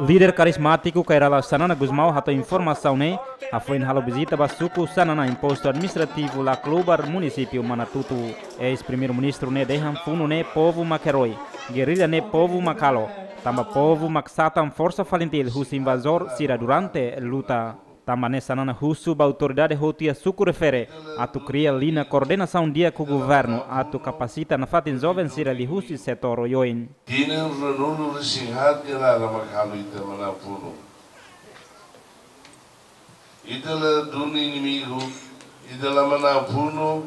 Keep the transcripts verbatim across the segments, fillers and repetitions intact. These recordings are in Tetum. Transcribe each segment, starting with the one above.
Líder karizmátiku Kay Rala Xanana Gusmão hato'o informasaun ne'e hafoin halo vizita ba suku Xanana, postu administrativu Laclubar, munisípiu Manatuto. Eis-primeiru-ministru ne'e dehan funu ne'e povu mak herói, gerrilla ne'e povu mak halo, tanba povu mak satan forsa FALINTIL husi invazór sira durante luta. Tanba ne'e Xanana husu ba autoridade hotu iha suku refere atu kria liña koordenasaun di'ak ho governu atu kapasita nafatin joven sira liuhusi setór oioin. Tinan ruanulu-resin-haat nia laran mak halo ita manán funu. Ita la duni inimigu, ita la manán funu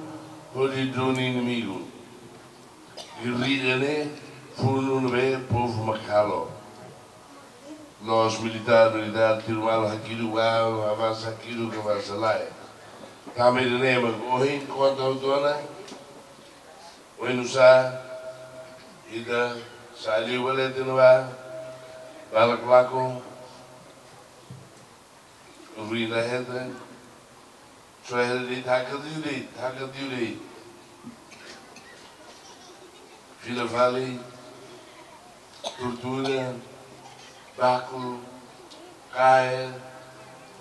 hodi duni inimigu. Gerrilla ne'e funu ne'ebé povu mak halo. La'ós militár, militár tiru malu hakidu ba, avansa hakidu ka avansa lae. Tanba ida-ne'e mak ohin konta hotu ona, oinsá ita sa'e liu ba leten ba, barak lakon, ruin la hetan, só hetan de'it, hakat liu de'it, hakat liu de'it. Fila fali, tortura, baku, kaer,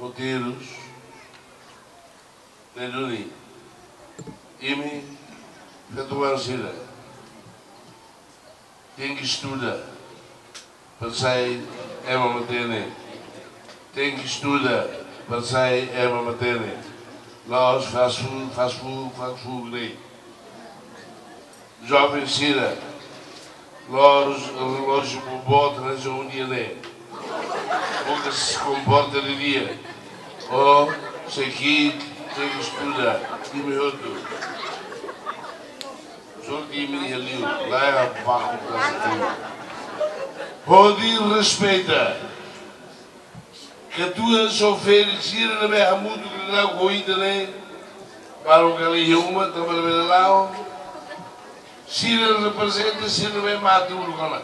hoteirus, ne'e duni. Imi, feto-oan sira, tenke estuda para sai ema matenek. Tenke estuda para sai ema matenek. La'ós fast food, fast food, fast food ne'e. Joven sira, la'ós relójiu boboot hanesan ohin ne'e. Boka komporta didi'ak. Ó sei ki'ik, tenke estuda, imi hotu. Só ke imi iha liur, lae, abaku klase tinan. Hodi respeita. Katuas ou ferik sira ne'ebé hamutuk liu ho ita ne'e, balun kala iha uma, tanba labele la'o. Sira reprezenta sira ne'ebé mate uluk ona.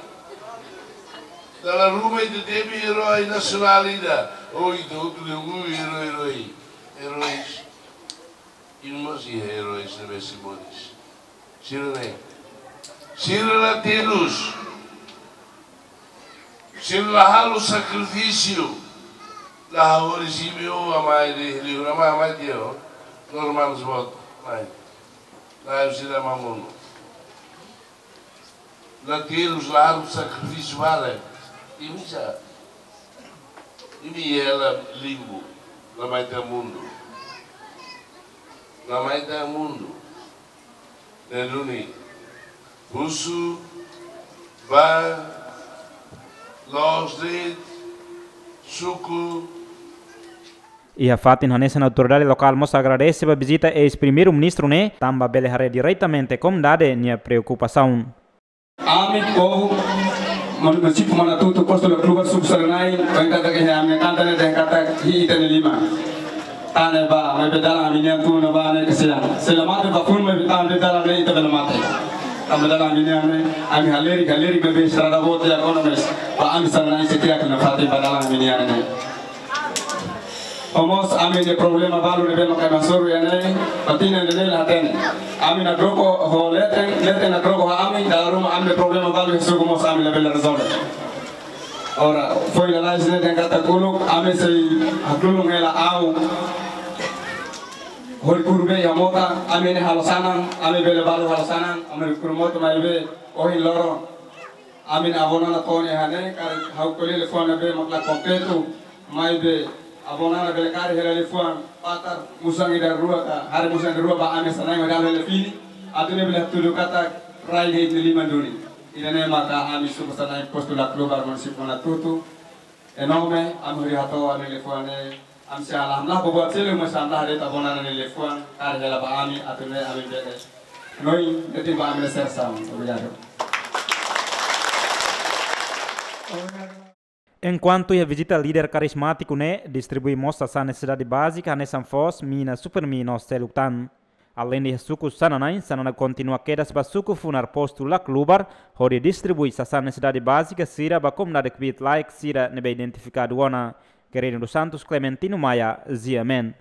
Dala ruma ita temi erói nasionál ida. Ou ita hotu dehan erói, erói. Eróis. Imi mós iha eróis ne'ebé simbóliku. Sira ne'e. Sira la terus. Sira la halo sakrifísiu. La halo risibi o amai de liu, amai, amai tiha o. Normal sbot, mai. La sira mamonu. La terus, la halo sakrifísiu barak. Imi sá. Imi iha limbu. La mai iha mundu. La mai iha mundu. Ne'e duni. Husu ba loos de'it suku. Iha fatin hanesan, autoridade lokál mós agradese ba vizita eis-primeiru-ministru ne'e, tanba bele haree diretamente komunidade nia preokupasaun. Ami povu munisípiu Manatuto, postu Laclubar, suku Xanana, ohin katak iha ami-nia kanta ne'e dehan katak iha ita-nia liman. Tan ne'e ba, maibé dalan ami-nian tun ne'ebá ne'e kasian. Se la mate ba funu, maibé tan ne'e dalan ne'e ita bele mate. Tanba dalan ami-nian ne'e, ami halerik, halerik maibé estrada boot iha ekonomia. Ba ami Xanana sei tiha nafatin ba dalan ami-nian ne'e. Ho mós ami-nia problema balu ne'ebé maka ami hasoru iha ne'e, ba tinan ida-ne'e la hatene. Ami nakdoko ho leten, leten nakdoko ho ami, dala ruma ami-nia problema balu iha suku mós ami labele rezolve. Ora, foin lalais ne'e dehan katak uluk, ami sei hakdulun hela au. Hodi kuru bee iha mota, ami ne'e halo sanan, ami bele balu halo sanan, ami kuru mota maibé, ohin loron. Ami-nia avó Nana to'o iha ne'e, karik ha'u ko'alia liafuan ne'ebé mak la kompletu, maibé avó Nana bele kaer hela liafuan patar musan ida rua ka, haree musan ida rua ba ami Xanana mak dala hela fini, atu nune'e bele hatudu katak rai de'it nia liman duni. Ida-ne'e maka ami suku Xanana postu Laclubar munisípiu Manatuto. Em nome, ami hodi hato'o ami-nia liafuan ne'e, ami sei la hamlaha buat seluk, mas hamlaha de'it avó Nana nia liafuan, kaer hela ba ami, atu nune'e ami bele. Noi, de'it ba ami-nia selesaun. Obrigadu. Enkuantu iha vizita líder karizmátiku ne'e, distribui mós sasán nesesidade bázika, hanesan foos, mina, Supermi no seluk tan. Aleinde iha suku Xanana, Xanana kontinua kedas ba suku Funar postu Laclubar, hodi distribui sasán nesesidade bázika sira ba komunidade kbiit-laek sira ne'ebé identifikadu ona. Querino dos Santos, Clementino Maia, G M N.